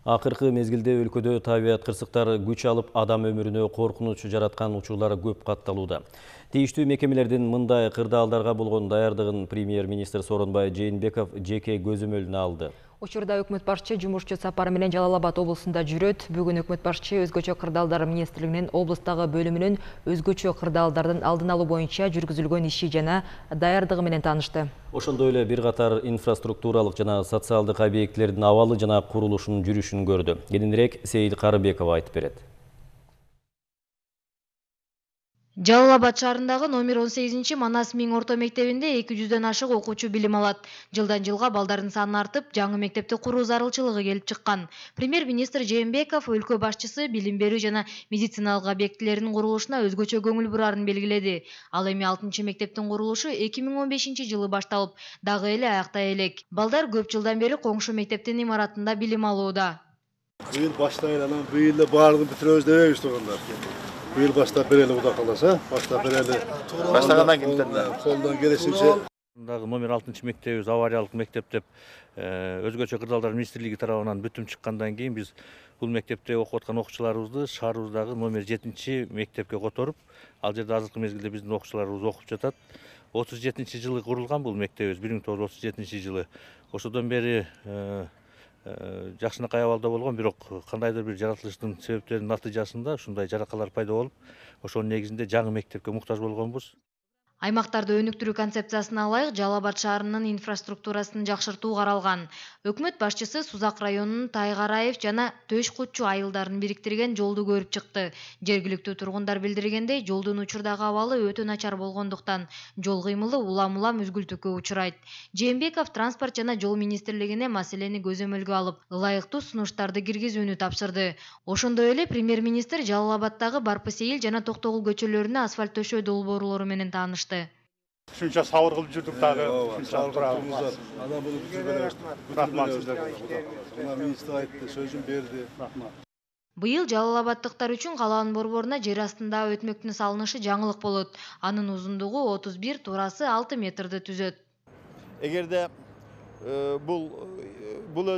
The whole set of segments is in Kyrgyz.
Акыркы мезгилде өлкөдө табият кырсыктары күч алып, адам өмүрүнө коркунуч жараткан учурлар көп катталууда. Тийиштүү мекемелердин мындай кырдаалдарга болгон даярдыгын премьер-министр Сооронбай Жээнбеков жеке көзөмөлүнө алды. Учурда өкмөт башчы жумушчу сапары менен Жалал Абад облусунда жүрөт. Бүгүн өкмөт башчы өзгөчө кырдаалдар министрлигинин облустагы бөлүмүнүн өзгөчө кырдаалдардын алдын алуу боюнча жүргүзүлгөн иши жана даярдыгы менен таанышты. Ошондой эле бир катар инфраструктуралык жана социалдык объектилердин абалы жана курулушунун жүрүшүн көрдү. Кененирээк Сейил Карыбекова айтып берет. Жалал Абад шаарындагы номер 18 Манас Миң орто мектебинде 200дөн ашык окуучу билим алат. Жылдан жылга балдардын саны артып, жаңы мектепти куруу зарылчылыгы келип чыккан. Премьер-министр Жээнбеков өлкө башчысы билим берүү жана медициналык объектилердин курулушуна өзгөчө көңүл бурарын белгиледи. Ал эми 6-мектептин курулушу 2015-жылы башталып, дагы эле аяктай элек. Балдар көп жылдан бери коңшу мектептин имаратында билим алууда. Быйыл баштайын, анан быйыл баардыгын бүтүрөбүз дебейбиз тургандар. Быйыл баштап берели, Кудай кааласа, баштап берели. Баштагандан кийин колдон келишинче. Номер 6-мектебибиз авариялык мектеп деп өзгөчө кырдаалдар министрлиги тарабынан бүтүм чыккандан кийин биз бул мектепте окуп аткан окуучуларыбызды шаарыбыздагы номер 7-мектепке которуп, ал жерде азыркы мезгилде биздин окуучуларыбыз окуп жатат. 37-жылы курулган бул мектебибиз, 1937-жылы. Ошодон бери жакшынакай абалда болгон, бирок кандайдыр бир жаратылыштын себептеринин натыйжасында ушундай жаракалар пайда болуп, ошонун негизинде жаңы мектепке муктаж болгонбуз. Аймактарды өнүктүрүү концепциясына ылайык Жалал Абад шаарынын инфраструктурасын жакшыртуу каралган. Өкмөт башчысы Сузак районунун Тайгараев жана Төш Кутчу айылдарын бириктирген жолду көрүп чыкты. Жергиликтүү тургундар билдиргендей, жолдун учурдагы абалы өтө начар болгондуктан жол кыймылы улам-улам үзгүлтүккө учурайт. Жээнбеков транспорт жана жол министрлигине маселени көзөмөлгө алып, ылайыктуу сунуштарды киргизүүнү тапшырды. Ошондой эле премьер-министр Жалал Абаддагы Барпы Сейил жана Токтогул көчөлөрүнө асфальт төшөө долбоорлору менен таанышты. Шунча сабыр кылып жүрдүк дагы. Адам болуп жүрбөйбүз. Рахмат сиздерге. Мына министр айтты, сөзүн берди. Быйыл Жалал Абаддыктар үчүн калаанын борборуна жер астында өтмөктүн салынышы жаңылык болот. Анын узундугу 31, турасы 6 метрди түзөт. Эгерде бул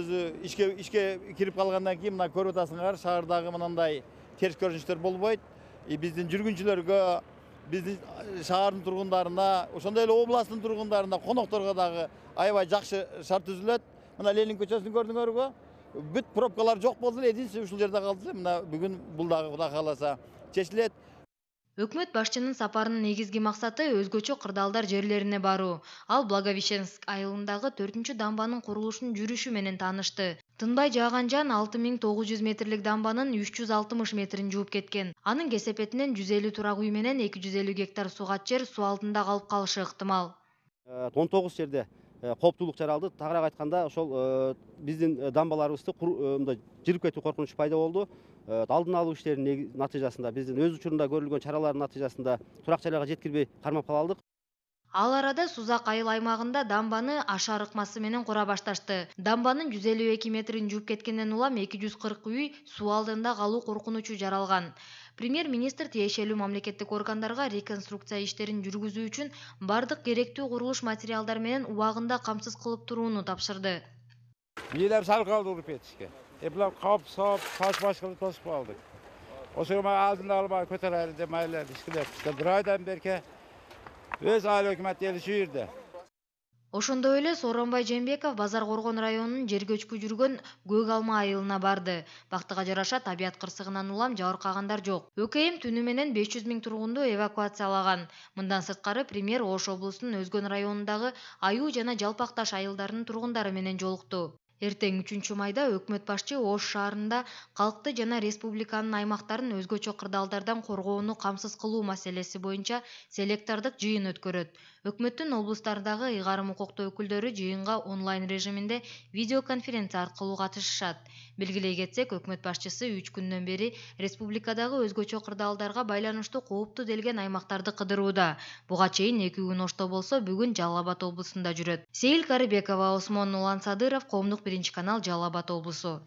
өзү ишке кирип калгандан кийин мына көрүп атасыңар, шаардагы мындай терс көрүнүштөр болбойт. Биздин жүргүнчүлөргө, биздин шаардын тургундарына, ошондой эле областтын тургундарына, конокторго дагы аябай жакшы шарт түзүлөт. Мына Ленин көчөсүн көрдүңөрбү? Бүт пробкалар жок болду эле, единственный ушул жерде калды. Мына бүгүн бул дагы Кудай кааласа чечилет. Өкмөт башчынын сапарынын негизги максаты өзгөчө кырдаалдар жерлерине баруу. Ал Благовещенск айылындагы 4-дамбанын курулушунун жүрүшү менен таанышты. Тынбай жааган жан 6900 метрлик дамбанын 360 метрин жууп кеткен. Анын кесепетинен 150 турак үй менен 250 гектар сугат жер суу алдында калып калышы ыктымал. 19 жерде кооптуулук жаралды. Тагыраак айтканда, ошол биздин дамбаларыбызды жирип кетүү коркунучу пайда болду. Алдын алуу иштеринин натыйжасында, биздин өз учурунда көрүлгөн чаралардын натыйжасында турак жайга жеткирбей кармап калдык. Ал арада Сузак айыл аймагында дамбаны ашар ыкмасы менен кура башташты. Дамбанын 152 метрин жууп кеткенден улам 240 үй суу алдында калуу коркунучу жаралган. Премьер-министр тиешелүү мамлекеттик органдарга реконструкция иштерин жүргүзүү үчүн бардык керектүү курулуш материалдар менен убагында камсыз кылып турууну тапшырды. Бийлер сал калды уруп кетишке. Булар кап сап, таш кылып тосуп калдык. Ошого алдын албай көтөрөлү деп майлар ишкилеп. Бир айдан берке өз айыл өкмөт ели şu жерде. Ошондой эле Сооронбай Жээнбеков Базар Коргон районунун жер көчкү жүргөн Көк Алма айылына барды. Бактыга жараша табият кырсыгынан улам жабыркагандар жок. ÖKM түнү менен 500 000 тургунду эвакуациялаган. Мындан сырткары премьер Ош облусунун Өзгөн районундагы Аюу жана Жалпак Таш айылдарынын тургундары менен жолукту. Эртең 3-майда өкмөт башчы Ош шаарында калкты жана республиканын аймактарын өзгөчө кырдаалдардан коргоону камсыз кылуу маселеси боюнча селектордук жыйын өткөрөт. Өкмөттүн облустардагы ыйгарым укуктуу өкүлдөрү жыйынга онлайн режиминде видеоконференция аркылуу катышышат. Белгилей кетсек, өкмөт башчысы 3 күндөн бери республикадагы өзгөчө кырдаалдарга байланыштуу кооптуу делген аймактарды кыдырууда. Буга чейин 2 күн Ошто болсо, бүгүн Жалал Абад облусунда жүрөт. Сейил Карыбекова, Осмон Улан Садыров, Коомдук 1 канал, Жалал Абад облусу.